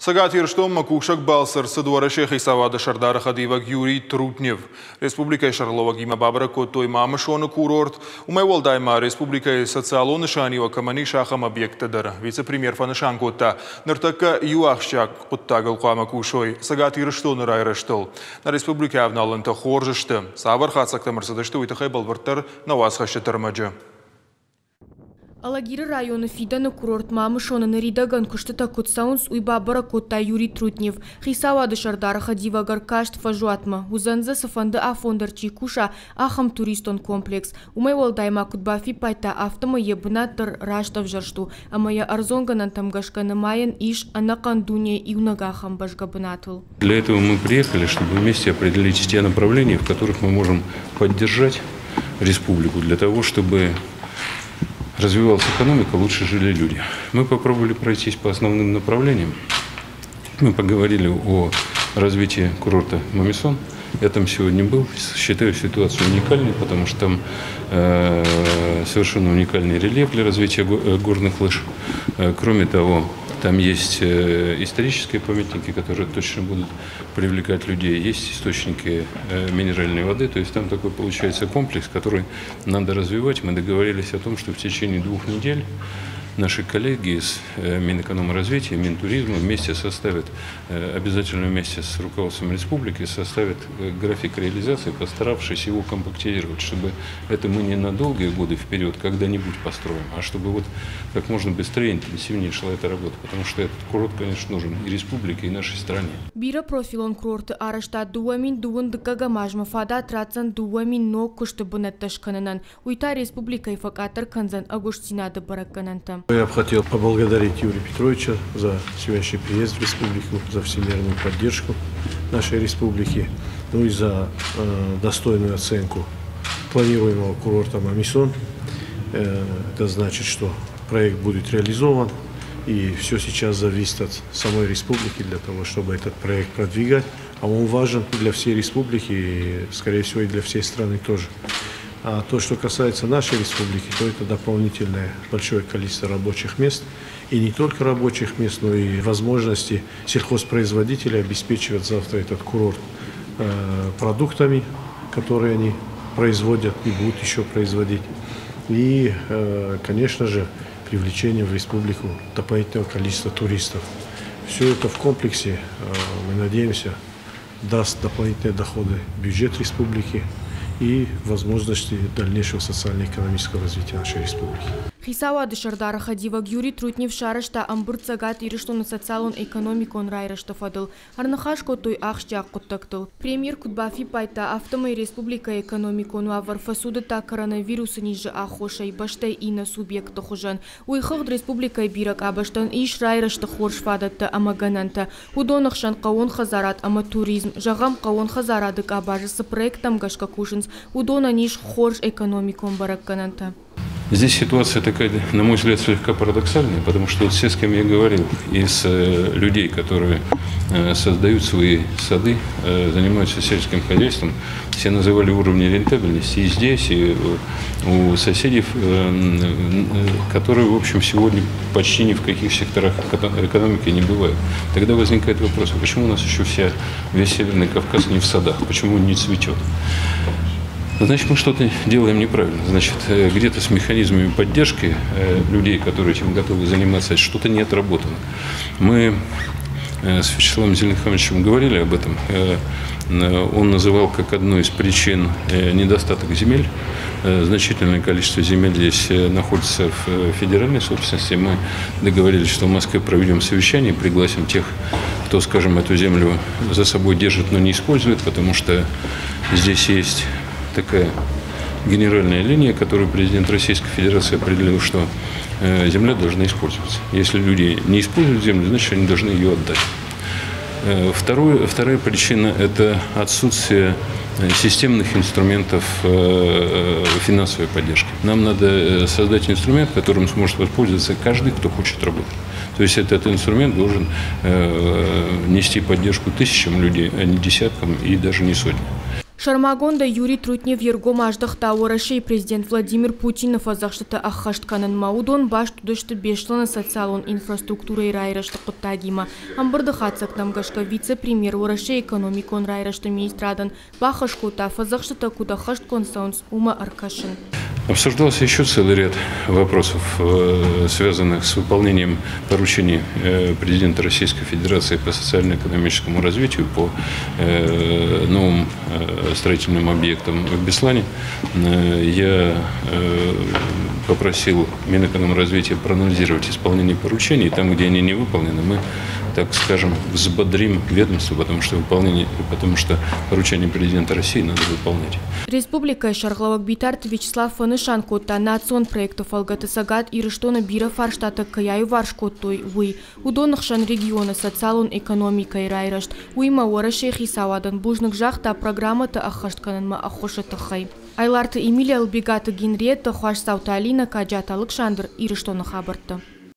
Цӕгат Ирыстонмӕ кусӕг балцы ӕрцыд Уӕрӕсейы хицауады сӕрдары хӕдивӕг Юрий Трутнев. Республикӕйы сӕргълӕууӕгимӕ бабӕрӕг кодтой Мамысоны курорт. Уымӕй уӕлдай ма республикӕйы социалон нысаниуӕг кӕмӕн ис, ахӕм объекттӕ дӕр. Вице-премьер фӕнысан кодта, ныртӕккӕ иу ахсджиаг хъуыддагыл хъуамӕ кусой Цӕгат Ирыстоны райрӕзтыл. Нӕ республикӕйы авналӕнтӕ хорз сты. Цавӕр хатдзӕгтӕм ӕрцыдысты, уый тыххӕй бӕлвырддӕр нӕ уацхӕсджыты ӕрмӕджы. Алагиры районы фидӕны курорт Мамысоны ныридӕгӕн куыстытӕ куыд цӕуынц, уый бабӕрӕг кодта Юрий Трутнев. Хицауады сӕрдары хӕдивӕг ӕркаст фӕзуатмӕ. Уыдзӕн дзы, цыфӕнды афон дӕр чи куса, ахӕм туристон комплекс. Уымӕй уӕлдай ма куыд бафиппайдта, афтӕмӕй йӕ бынат дӕр раст ӕвзӕрст у, ӕмӕ йӕ ӕрдзон гӕнӕнтӕм гӕсгӕ нымайӕн ис ӕнӕхъӕн дунейы иунӕг ахӕм бӕзгӕ бынатыл. Для этого мы приехали, чтобы вместе определить те направления, в которых мы можем поддержать республику, для того, чтобы развивалась экономика, лучше жили люди. Мы попробовали пройтись по основным направлениям. Мы поговорили о развитии курорта Мамисон. Я там сегодня был. Считаю ситуацию уникальной, потому что там совершенно уникальный рельеф для развития горных лыж. Кроме того, там есть исторические памятники, которые точно будут привлекать людей. Есть источники минеральной воды. То есть там такой получается комплекс, который надо развивать. Мы договорились о том, что в течение 2 недель наши коллеги из Минэкономразвития, Минтуризма вместе составят, обязательно вместе с руководством республики, составят график реализации, постаравшись его компактизировать, чтобы это мы не на долгие годы вперед когда-нибудь построим, а чтобы вот как можно быстрее, интенсивнее шла эта работа, потому что этот курорт, конечно, нужен и республике, и нашей стране. Бирӕпрофилон курорты арӕзтад 2022-ӕм азмӕ фадат ратдзӕн 2000 ног куысты бынӕттӕ скӕнынӕн. Уый та республикӕйы фӕкъаддӕр кӕндзӕн ӕгуыстдзинады бӕрӕггӕнӕнтӕ. Я бы хотел поблагодарить Юрия Петровича за сегодняшний приезд в республику, за всемирную поддержку нашей республики, ну и за достойную оценку планируемого курорта Мамисон. Это значит, что проект будет реализован, и все сейчас зависит от самой республики для того, чтобы этот проект продвигать. А он важен для всей республики и, скорее всего, и для всей страны тоже. А то, что касается нашей республики, то это дополнительное большое количество рабочих мест. И не только рабочих мест, но и возможности сельхозпроизводителей обеспечивать завтра этот курорт продуктами, которые они производят и будут еще производить. И, конечно же, привлечение в республику дополнительного количества туристов. Все это в комплексе, мы надеемся, даст дополнительные доходы в бюджет республики и возможности дальнейшего социально-экономического развития нашей республики. Хицауады сӕрдары хӕдивӕг Юрий Трутнев сарӕзта ӕмбырд Цӕгат Ирыстоны социалон-экономикон райрӕзты фӕдыл. Ӕрныхас кодтой ахсджиаг хъуыддӕгтыл. Премьер куыд бафиппайдта, афтӕмӕй республикӕйы экономикон уавӕр фӕцудыдта коронавирусы низы аххосӕй бӕстӕйы иннӕ субъектты хуызӕн. Уый хыгъд республикӕйы бирӕ къабӕзтӕн ис райрӕзты хорз фадӕттӕ ӕмӕ гӕнӕнтӕ. Уыдоны хсӕн хъӕууон хӕдзарад ӕмӕ туризм. Зӕгъӕм, хъӕууон хӕдзарады къабазы цы проекттӕм гӕсгӕ кусынц, уыдонӕн ис хорз экономикон бӕрӕггӕнӕнтӕ. Здесь ситуация такая, на мой взгляд, слегка парадоксальная, потому что вот все, с кем я говорил, из людей, которые создают свои сады, занимаются сельским хозяйством, все называли уровни рентабельности и здесь, и у соседей, которые, в общем, сегодня почти ни в каких секторах экономики не бывают. Тогда возникает вопрос, а почему у нас еще весь Северный Кавказ не в садах, почему он не цветет? Значит, мы что-то делаем неправильно. Значит, где-то с механизмами поддержки людей, которые этим готовы заниматься, что-то не отработано. Мы с Вячеславом Зелимхановичем говорили об этом. Он называл как одну из причин недостаток земель. Значительное количество земель здесь находится в федеральной собственности. Мы договорились, что в Москве проведем совещание, пригласим тех, кто, скажем, эту землю за собой держит, но не использует, потому что здесь есть такая генеральная линия, которую президент Российской Федерации определил, что земля должна использоваться. Если люди не используют землю, значит, они должны ее отдать. Вторая причина – это отсутствие системных инструментов финансовой поддержки. Нам надо создать инструмент, которым сможет воспользоваться каждый, кто хочет работать. То есть этот инструмент должен нести поддержку тысячам людей, а не десяткам и даже не сотням. Сӕрмагондӕй Юрий Трутнев йе ргом аздӕхта Уӕрӕсейы президент Владимир Путины фӕдзӕхстытӕ ӕххӕст кӕнынмӕ. Уыдон баст уыдысты Беслӕны социалон инфраструктурӕйы райрӕзты хъуыддагимӕ. Ӕмбырды хатдзӕгтӕм гӕсгӕ вице-премьер Уӕрӕсейы экономикон райрӕзты министрадӕн бахӕс кодта, фӕдзӕхстытӕ куыд ӕххӕстгонд цӕуынц, уымӕ ӕркӕсын. Обсуждался еще целый ряд вопросов, связанных с выполнением поручений президента Российской Федерации по социально-экономическому развитию, по новым строительным объектам в Беслане. Я попросил Минэкономразвития проанализировать исполнение поручений. Там, где они не выполнены, мы, так скажем, взбодрим ведомство, потому что поручение президента России надо выполнять. Республикӕйы сӕргълӕууӕг Битарты Вячеслав фӕнысан кодта, национ проекты фӕлгӕты Цӕгат Ирыстоны бирӕ фарстатӕ кӕй аиуварс кодтой, уый. Уыдоны хсӕн регионы социалон экономикӕйы райрӕзт. Уыимӕ Уӕрӕсейы хицауадӕн бузныг загъта программӕтӕ ӕххӕст кӕнынмӕ ӕххуысы тыххӕй. Айларты Эмилия, Ӕлбегаты Генриетта, Хуасдзауты Алинӕ, Каджаты Алыксандр, Ирыстоны хабӕрттӕ.